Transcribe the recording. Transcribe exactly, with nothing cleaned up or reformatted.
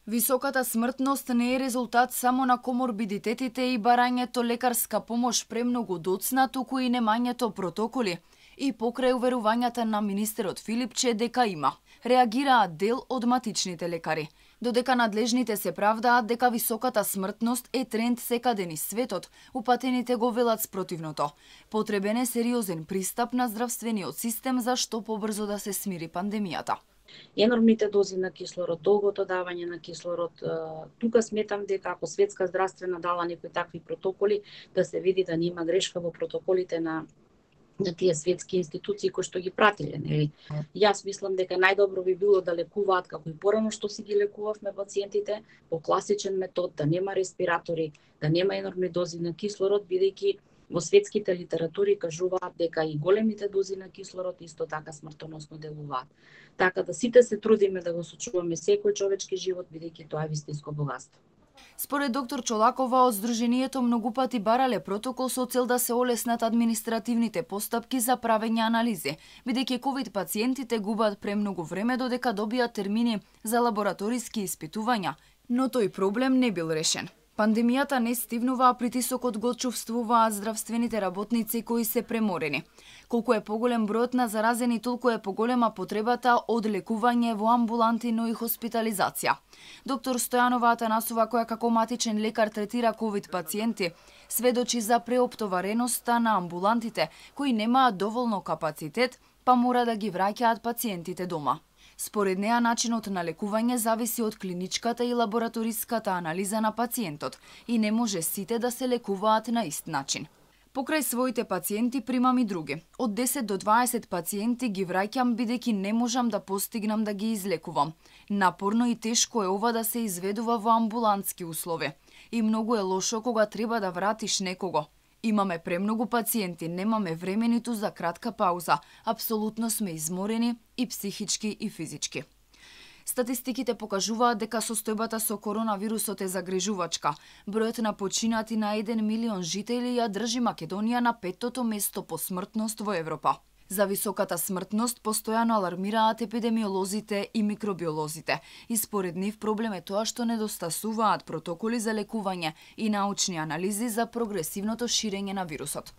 Високата смртност не е резултат само на коморбидитетите и барањето лекарска помош премногу доцна, туку и немањето протоколи. И покрај уверувањата на министерот Филипче дека има. Реагираат дел од матичните лекари. Додека надлежните се правдаат дека високата смртност е тренд секаде низ светот, упатените го велат спротивното. Потребен е сериозен пристап на здравствениот систем за што побрзо да се смири пандемијата. Енормните дози на кислород, долгото давање на кислород, тука сметам дека ако Светска здравствена дала некои такви протоколи, да се види да нема грешка во протоколите на на тие светски институции кои што ги пратиле, нели? Јас мислам дека најдобро би било да лекуваат како и порано што си ги лекувавме пациентите по класичен метод, да нема респиратори, да нема енормни дози на кислород, бидејќи во светските литератури кажуваат дека и големите дози на кислород исто така смртоносно делуваат. Така да сите се трудиме да го сочуваме секој човечки живот, бидејќи тоа е вистинско богатство. Според доктор Чолакова, од Сдруженијето многу пати барале протокол со цел да се олеснат административните постапки за правење анализи, бидејќи ковид пациентите губат премногу време додека добијат термини за лабораториски испитувања, но тој проблем не бил решен. Пандемијата не стивнува, а притисокот го чувствуваат здравствените работници кои се преморени. Колку е поголем бројот на заразени, толку е поголема потребата од лекување во амбуланти, но и хоспитализација. Доктор Стојанова Атанасова, која како матичен лекар третира ковид пациенти, сведочи за преоптовареноста на амбулантите, кои немаат доволно капацитет, па мора да ги враќаат пациентите дома. Според неа, начинот на лекување зависи од клиничката и лабораториската анализа на пациентот и не може сите да се лекуваат на ист начин. Покрај своите пациенти примам и други. Од десет до дваесет пациенти ги враќам бидејќи не можам да постигнам да ги излекувам. Напорно и тешко е ова да се изведува во амбулантски услови. И многу е лошо кога треба да вратиш некого. Имаме премногу пациенти, немаме време ниту за кратка пауза. Апсолутно сме изморени и психички и физички. Статистиките покажуваат дека состојбата со коронавирусот е загрижувачка. Бројот на починати на еден милион жители ја држи Македонија на петтото место по смртност во Европа. За високата смртност постојано алармираат епидемиолозите и микробиолозите. И според нив проблем е тоа што недостасуваат протоколи за лекување и научни анализи за прогресивното ширење на вирусот.